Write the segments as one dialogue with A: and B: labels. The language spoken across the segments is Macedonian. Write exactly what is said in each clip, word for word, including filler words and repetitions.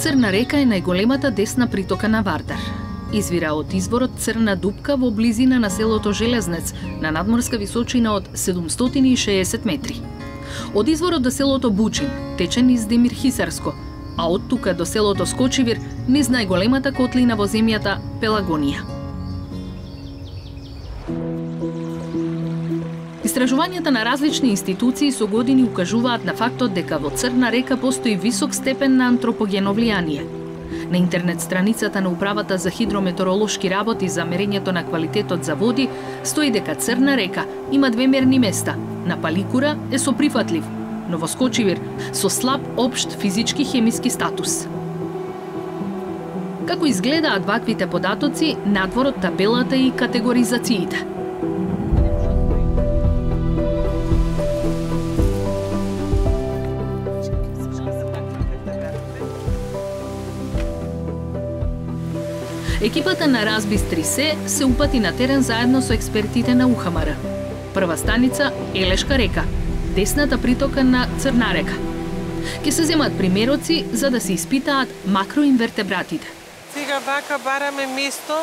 A: Црна река е најголемата десна притока на Вардар. Извира од изворот Црна дупка во близина на селото Железнец на надморска височина од седумстотини и шеесет метри. Од изворот до селото Бучин тече низ Демир Хисарско, а од тука до селото Скочивир низ најголемата котлина во земјата Пелагонија. Истражувањата на различни институции со години укажуваат на фактот дека во Црна река постои висок степен на антропогено влијание. На интернет страницата на Управата за хидрометеоролошки работи за мерењето на квалитетот за води стои дека Црна река има две мерни места. На Паликура е со прифатлив, но во Скочивир со слаб општ физички хемиски статус. Како изгледаат ваквите податоци надвор од табелата и категоризациите? Екипата на Разбис три се се упати на терен заедно со експертите на У Х М Р. Прва станица Елешка река, десната притока на Црна река. Ке се земат примероци за да се испитаат макроинвертебратите.
B: Сега вака бараме место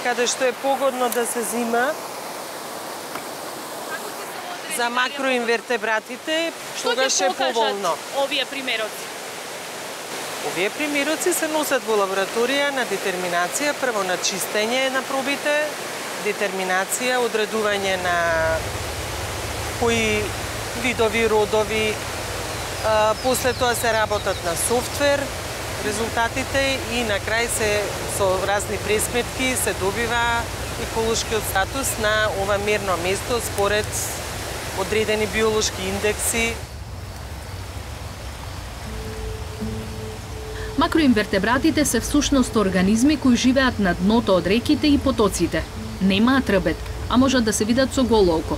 B: каде што е погодно да се зима за макроинвертебратите, тогаш е поволно.
A: Овие примероци?
B: Овие примероци се носат во лабораторија на детерминација, прво на чистење на пробите, детерминација, одредување на кои видови, родови, а, после тоа се работат на софтвер, резултатите и на крај се со разни пресметки се добива еколошкиот статус на ова мерно место според одредени биолошки индекси.
A: Макроинвертебратите се всушност организми кои живеат на дното од реките и потоците. Немаат рбет, а можат да се видат со голо око.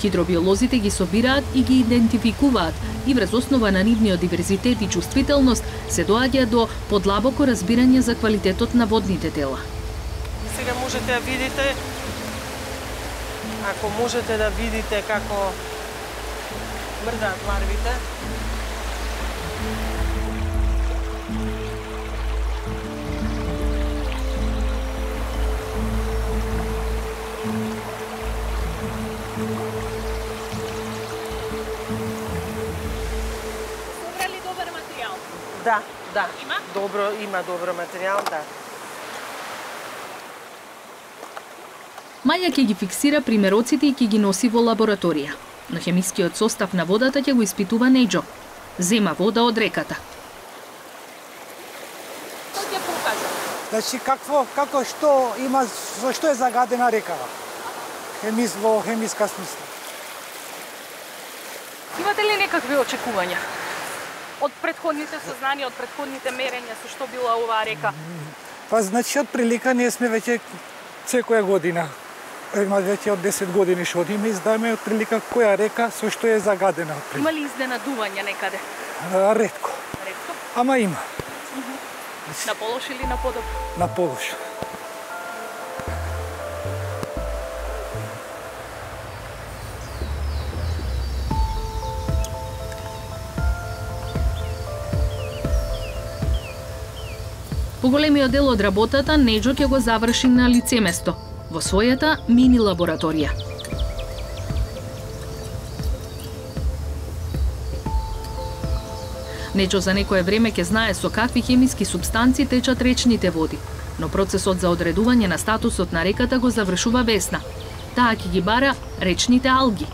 A: Хидробиолозите ги собираат и ги идентификуваат и врз основа на нивниот диверзитет и чувствителност се доаѓа до подлабоко разбирање за квалитетот на водните тела.
B: Сега можете да видите, ако можете да видите како мрдаат ларвите. Да, да.
A: Има?
B: Добро, има добро материјал, да.
A: Маја ќе ги фиксира примероците и ќе ги носи во лабораторија. Но хемискиот состав на водата ќе го испитува Неџо. Зема вода од реката.
C: Што ќе покажа?
D: Значи какво, како што има, за што е загадена рекава? Хемис во хемиска смисла.
C: Имате ли некакви очекувања? Од претходните сознанија, од претходните мерења со што била оваа река?
D: Па значи од прилика ние сме веќе секоја година. Има веќе од десет години што одиме и знаеме од прилика која река со што е загадена.
C: Има ли изненадувања некаде?
D: А, ретко.
C: Ретко?
D: Ама има.
C: На полош или на подоб?
D: На полош.
A: Поголемиот дел од работата Неџо ќе го заврши на лице место, во својата мини лабораторија. Неџо за некое време ќе знае со какви хемиски супстанци течат речните води, но процесот за одредување на статусот на реката го завршува Весна. Таа ќе ги бара речните алги.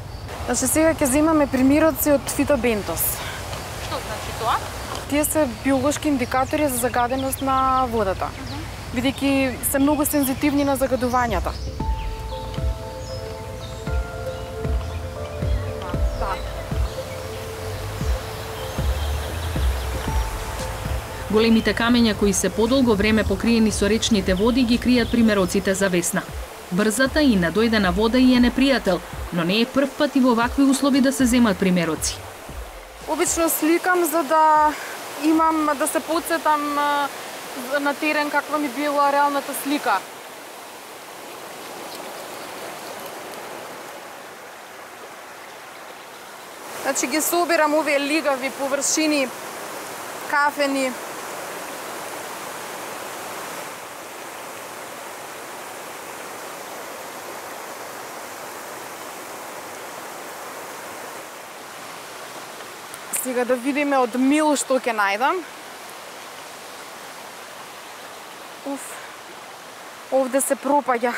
E: Значи сега ќе земаме примероци од фитобентос.
C: Што значи тоа?
E: Тие се биолошки индикатори за загаденост на водата, бидејќи се многу сензитивни на загадувањата.
A: Големите камења кои се подолго време покриени со речните води ги кријат примероците за Весна. Брзата и надојдена вода и е непријател, но не е прв пат и во вакви услови да се земат примероци.
E: Обично сликам за да имам да се потсетам на терен каква ми била реалната слика. Значи ги собирам овие лигави површини, кафени. Сега да видиме од мил што ќе најдам. Уф, овде се пропаѓа.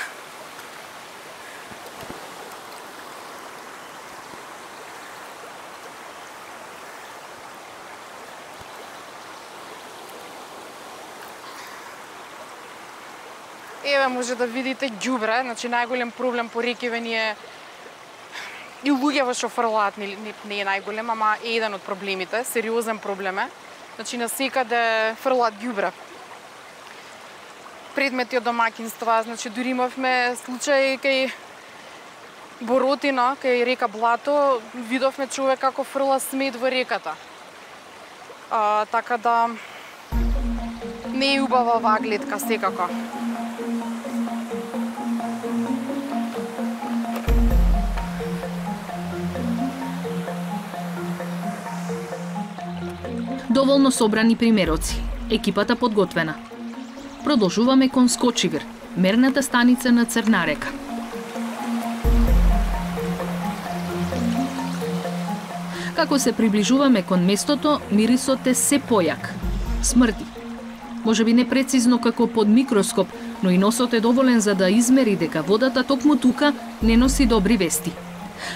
E: Еве може да видите ѓубре, значи најголем проблем по рекиве ни е и луѓето што фрлаат не, не, не е најголем, ама е еден од проблемите, сериозен проблем е. Значи насекаде фрлаат ѓубре. Предмети од домаќинства, значи дури имавме случај кај Боротина, кај река Блато, видовме човек како фрла смет во реката. А, така да не е убава оваа гледка секако.
A: Доволно собрани примероци. Екипата подготвена. Продолжуваме кон Скочивир, мерната станица на Црна река. Како се приближуваме кон местото, мирисот е се појак. Смрди. Може би не прецизно како под микроскоп, но и носот е доволен за да измери дека водата токму тука не носи добри вести.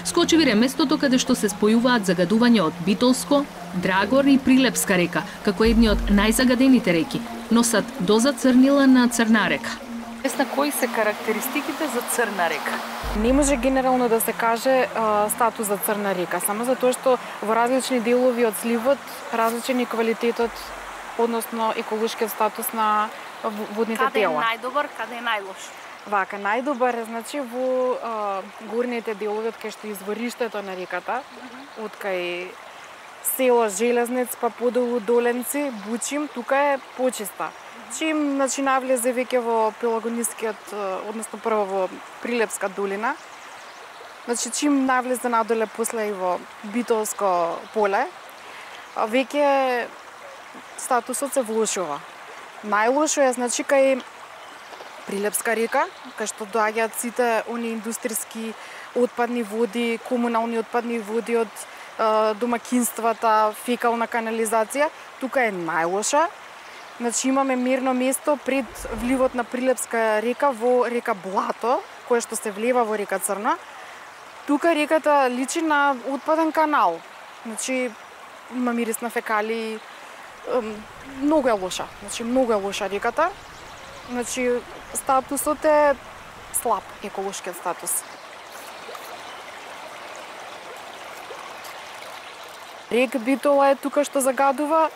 A: Скочивир е местото каде што се спојуваат загадување од Битолско, Драгор и Прилепска река, како едни од најзагадените реки, носат доза црнила на Црна река.
C: На кои се карактеристиките за Црна река?
E: Не може генерално да се каже а, статус за Црна река, само затоа што во различни делови од сливот различен е квалитетот, односно еколошкиот статус на водните
C: каде
E: тела.
C: Каде е најдобар, каде е најлош?
E: Вака, најдобар е значи во а, горните делови од кај што извориштето на реката, од кај село Железнец па подолу Доленци, Бучим, тука е почиста. Чим значи навлезе веќе во Пелагонискиот, односно прво во Прилепска долина, значи чим навлезе надоле после и во Битолско поле, веќе статусот се влошува. Најлошо е значи кај Прилепска река, кај што доаѓаат сите они индустријски отпадни води, комунални отпадни води од е, домакинствата, фекална канализација, тука е најлоша. Значи имаме мерно место пред вливот на Прилепска река во река Блато, кое што се влева во река Црна. Тука реката личи на отпаден канал. Значи има мирис на фекали, многу е лоша. Значи многу е лоша реката. Значи статусот е слаб, еколошкиот статус. Рек Битола е тука што загадува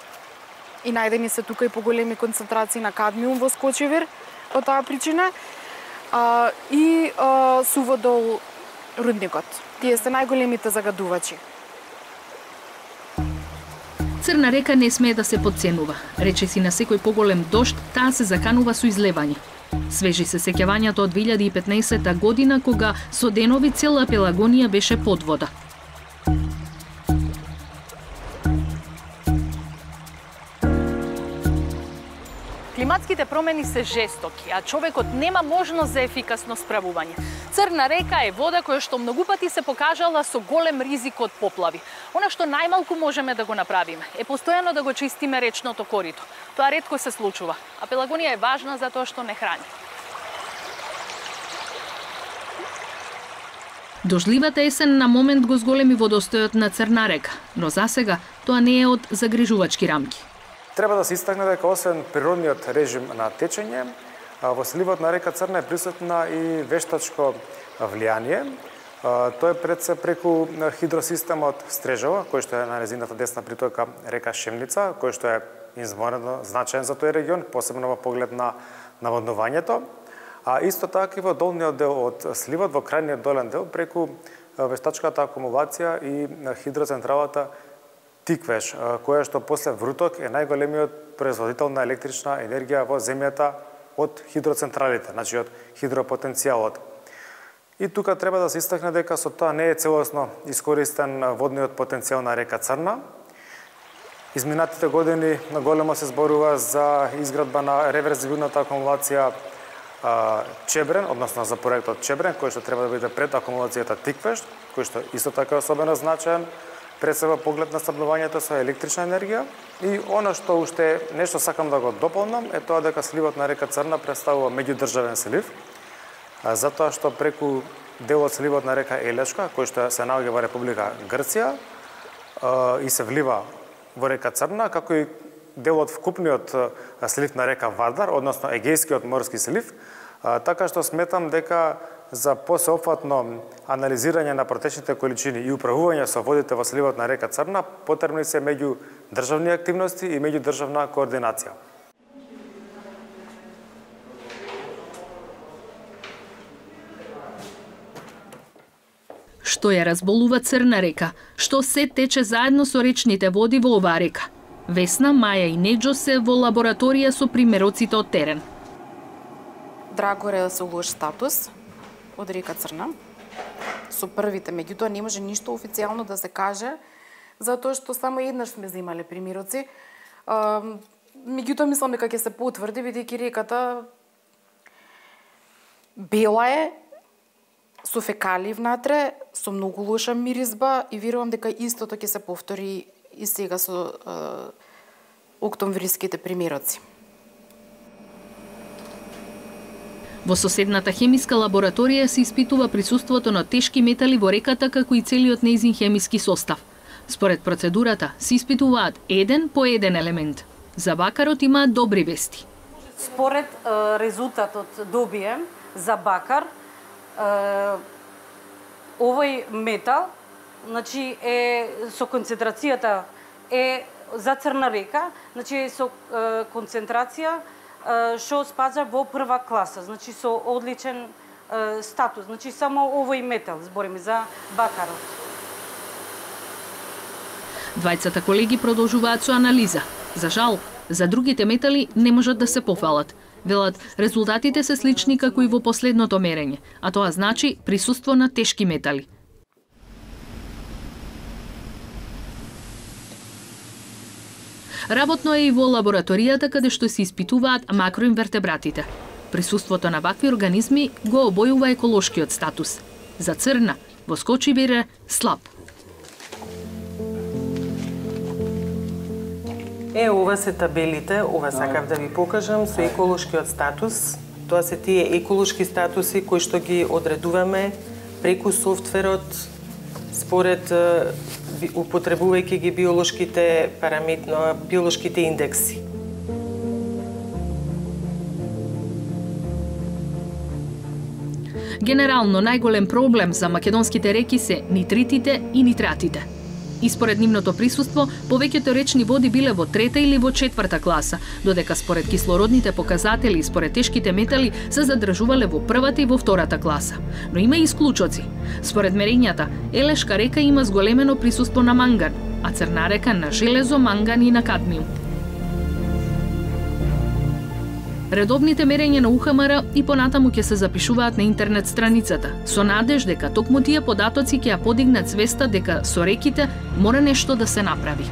E: и најдени се тука и поголеми концентрации на кадмиум во Скочивир од таа причина. А, и а, Суводол рудникот. Тие се најголемите загадувачи.
A: Црна река не смее да се подценува. Речиси на секој поголем дожд, таа се заканува со излевање. Свежи се сеќавањето од две илјади и петнаесетта година, кога со денови цела Пелагонија беше под вода.
C: Климатските промени се жестоки, а човекот нема можност за ефикасно справување. Црна река е вода која што многу пати се покажала со голем ризик од поплави. Она што најмалку можеме да го направиме е постојано да го чистиме речното корито. Тоа ретко се случува, а Пелагонија е важна за тоа што не храни.
A: Дождливата есен на момент го зголеми водостојот на Црна река, но засега тоа не е од загрижувачки рамки.
F: Треба да се истакне дека освен природниот режим на течење, во сливот на река Црна е присутна и вештачко влијание. Тоа е пред се преку хидросистемот Стрежова, кој што е на незината десна притока река Шемница, кој што е изморено значаен за тој регион, посебно во поглед на наводнувањето. А исто така и во долниот дел од сливот, во крајниот долен дел, преку вештачката акумулација и хидроцентралата Тиквеш, која што после Вруток е најголемиот производител на електрична енергија во земјата од хидроцентралите, значи од хидропотенцијалот. И тука треба да се истакне дека со тоа не е целосно искористен водниот потенцијал на река Црна. Изминатите години наголемо се зборува за изградба на реверзивната акумулација Чебрен, односно за проектот Чебрен, кој што треба да биде пред акумулацијата Тиквеш, кој што исто така е особено значаен пред себе поглед на снабдувањето со електрична енергија. И она што уште нешто сакам да го дополнам е тоа дека сливот на река Црна представува меѓудржавен слив, затоа што преку делот сливот на река Елешка, кој што се наоѓа во Република Грција и се влива во река Црна, како и делот вкупниот слив на река Вардар, односно Егејскиот морски слив, така што сметам дека за посеопфатно анализирање на протечните количини и управување со водите во сливот на река Црна потребни се меѓу државни активности и меѓудржавна координација.
A: Што ја разболува Црна река? Што се тече заедно со речните води во оваа река? Весна, Маја и Неџо се во лабораторија со примероците од терен.
E: Драго е да се лош статус од река Црна. Со првите, меѓутоа не може ништо официјално да се каже, затоа што само еднаш сме земале примероци. Меѓутоа мислам дека ќе се потврди, бидејќи реката бела е, со фекали внатре, со многу лоша миризба и верувам дека истото ќе се повтори и сега со е, октомвриските примероци.
A: Во соседната хемиска лабораторија се испитува присуството на тешки метали во реката како и целиот нејзин хемиски состав. Според процедурата се испитуваат еден по еден елемент. За бакарот имаат добри вести.
G: Според е, резултатот добием за бакар, е, овој метал, значи е со концентрацијата е за Црна река, значи со е, концентрација што спаѓа во прва класа, значи со одличен е, статус, значи само овој метал, збориме за бакарот.
A: Двајцата колеги продолжуваат со анализа. За жал, за другите метали не можат да се пофалат. Велат, резултатите се слични како и во последното мерење, а тоа значи присуство на тешки метали. Работно е и во лабораторијата каде што се испитуваат макроинвертебратите. Присуството на вакви организми го обојува еколошкиот статус. За Црна, во Скочибир е слаб.
B: Е, ова се табелите, ова сакав да ви покажам, со еколошкиот статус. Тоа се тие еколошки статуси кои што ги одредуваме преку софтверот според употребувајќи ги биолошките параметри, биолошките индекси.
A: Генерално најголем проблем за македонските реки се нитритите и нитратите. И според нивното присуство, повеќето речни води биле во трета или во четврта класа, додека според кислородните показатели и според тешките метали се задржувале во првата и во втората класа. Но има и исклучоци. Според мерењата, Елешка река има зголемено присуство на манган, а Црна река на железо, манган и на кадмиум. Редовните мерења на У Х М Р и понатаму ќе се запишуваат на интернет страницата, со надеж дека токму тие податоци ќе ја подигнат свеста дека со реките мора нешто да се направи.